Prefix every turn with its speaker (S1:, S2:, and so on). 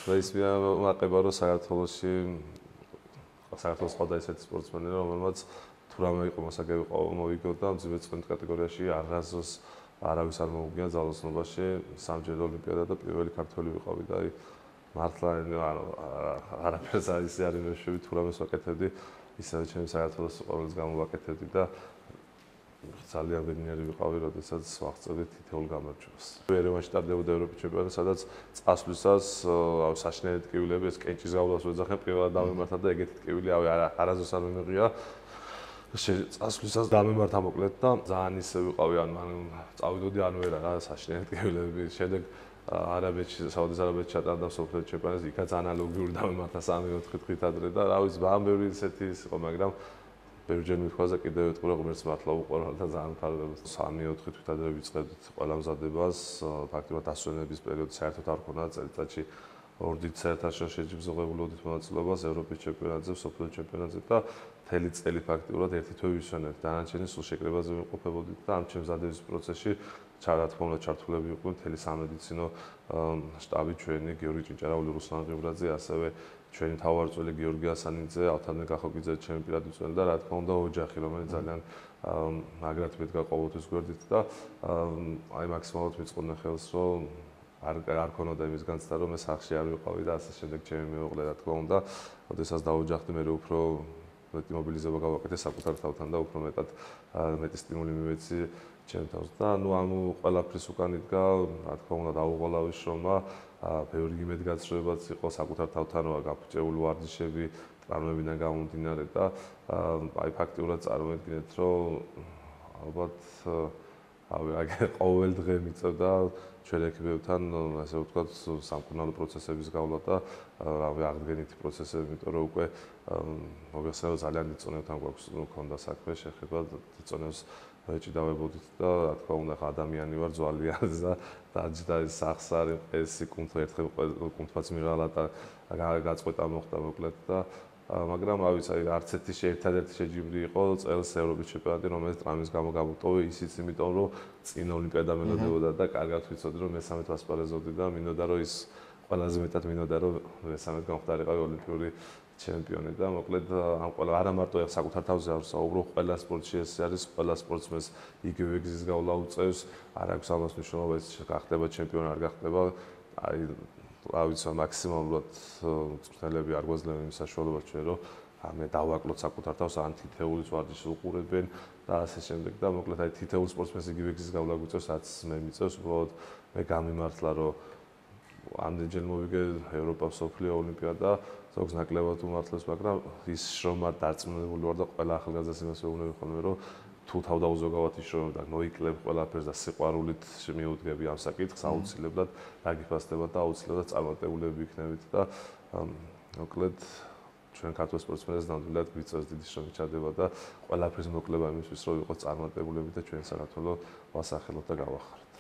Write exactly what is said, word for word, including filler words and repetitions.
S1: და ის მეაყება რომ საქართველოში საქართველოს ყავდა ესეთი სპორტსმენები რომელმაც თუ რამე იყო მოსაგები მოვიგო და მძიმე წვენით კატეგორიაში აღაზოს არავის არ მოუგია ძალოსნობაში სამჯერ ოლიმპიადა და პირველი ქართველი ვიყავი და აი მართლა არაფერს არის არ იმეშვები თუ რამეს ვაკეთებდი ისევე ჩემი საქართველოს ყოველს გამოვაკეთებდი და ძალიან ბედნიერი ვიყავი, როდესაც ვაღწევდი თითოეულ გამარჯვებას. ერევანში ტარდებოდა ევროპის ჩემპიონატი, სადაც წასვლისას საშინელი ტკივილები, ეს კენჭის გავლას ვეძახენ, პირველად დამემართა და ეგეთი ტკივილი არაზოს არ მიმიღია. წასვლისას დამემართა მოკლედ და ძალიან ისე ვიყავი, ანუ წავიდოდი ანუ ვერა რა საშინელი ტკივილები. შემდეგ არაბეთში, საუდის არაბეთში ჩატარდა მსოფლიო ჩემპიონატი, იქაც ანალოგიური დამემართა სამი ოთხი დღით ადრე და რა ვიცი, ძალიან ბევრი ისეთი იყო, მაგრამ ბევრჯერ მithქვაზე კიდევ ეთქვი ღმერთს მართლა უყვარვარ და ძალიან მფარველობს. სამი ოთხი თვით ადრე ვიწყებდით ყველა მზადებას, ფაქტობრივად ასვენების პერიოდი საერთოდ არ ქონდა წელიწადში ორ დიდ საერთაშორისო ბრძოლებულოდით მონაწილეობას ევროპის ჩემპიონატზე, მსოფლიო ჩემპიონატზე და მთელი წელი ფაქტობრივად ერთი თვე ვისვენებთ. დანარჩენი სულ შეკრებაზე ვიმყოფებოდით და ამ ჩემს მზადების პროცესში რა თქმა უნდა ჩართულები იყვნენ მთელი სამედიცინო შტაბი ჩვენი, გიორგი ჭინჭარაული, რუსლან ღიბრაძე, ასევე ჩვენი მთავარწველი გიორგი ასანიძე, ავთანე კახოგიძე, ჩემი პირადი წველი და რა თქმა უნდა ოჯახი, რომელიც ძალიან მაგრად მედგა ყოველთვის გვერდით და აი მაქსიმალურად მიწყობდნენ ხელს, რომ არ არ ქონოდა იმის განცდა, რომ ეს სახში არ ვიყავი და ასე შემდეგ ჩემი მეუღლე რა თქმა უნდა, ოდესაც დაუჯახდი მე უფრო მეტი მობილიზება გავაკეთე საკუთარ თავთან და უფრო მეტად მეტი სტიმული მივეცი ჩემ თავს და ნუ ამ ყველაფრის უკან იდგა, რა თქმა უნდა დაუღალავი შრომა, ბევრი იმედგაცრუებაც იყო საკუთარ თავთან, გაფუჭებული ვარჯიშები, ტრავმებიდან გამომდინარე და აი ფაქტიურად წარმოედგინეთ, რომ ალბათ აი ყოველ დღე მიწევდა ჩვენ ექიმებთან, ასე ვთქვათ, სამკურნალო პროცესების გავლა და რავი აღდგენითი პროცესები, იმიტომ რომ უკვე მოგეხსენებათ ძალიან დიდ წონებთან გვაქვს მქონდა საქმე, შეხება დიდ წონებს ეჭიდავებოდით და რა თქმა უნდა ადამიანი ვარ ძვალიან და დაჯდა ეს სახსარი ეს კუნთო ერთხელ კუნთფაც მიღალა და გაწყვეტა მოხდა მოკლედ და მაგრამ რა ვიცი აი არც ერთი ერთადერთი შეჯიბრი იყო წელს ევროპის ჩემპიონატი რომელიც ტრამვის გამო გამოტოვე ისიც იმიტომ რომ წინ ოლიმპიადა მელოდებოდა და კარგად ვიცოდი რომ მესამედ ვასპარეზობდი და მინდოდა რომ ის ყველაზე მეტად მინდოდა რომ მესამედ გამختارიყავი ოლიმპიური ჩემპიონი და მოკლედ ამ ყველა არა მარტო საკუთარ თავზე არ ვსაუბრობ, ყველა სპორტში ეს არის, ყველა სპორტსმენს იგივე გზის გავლა უწევს, არ აქვს ამას მნიშვნელობა ის გახდება ჩემპიონი არ გახდება, აი რა ვიცი მაქსიმალურად მწვრთნელები არ გვაძლევენ იმ საშუალებას ჩვენ რომ მე დავაკლოთ საკუთარ თავს ან თითეულის ვარჯიშს უყურებენ და ასე შემდეგ და მოკლედ აი თითეულ სპორტსმენს იგივე გზის გავლა უწევს, რაც მე მიწევს, უბრალოდ მე გამიმართლა რომ ამდენჯერ მოვიგე ევროპა მსოფლიო ოლიმპიადა ზოგს ნაკლებად უმართლეს, მაგრამ ის შრომა დარწმუნებული ვარ და ყველა ახალგაზრდას იმას ვეუბნები ხოლმე, რომ თუ თავდაუზოგავად იშრომებ და მოიკლებ ყველაფერს და სიყვარულით მიუდგები ამ საკითხს, აუცილებლად დაგიფასდება და აუცილებლად წარმატებულები იქნებით და მოკლედ ჩვენ ქართულ სპორტსმენებს ნამდვილად გვიწევს დიდი შრომის ჩადება და ყველაფერს მოკლება იმისთვის, რომ ვიყოთ წარმატებულები და ჩვენ საქართველოს ვასახელოთ და გავახაროთ.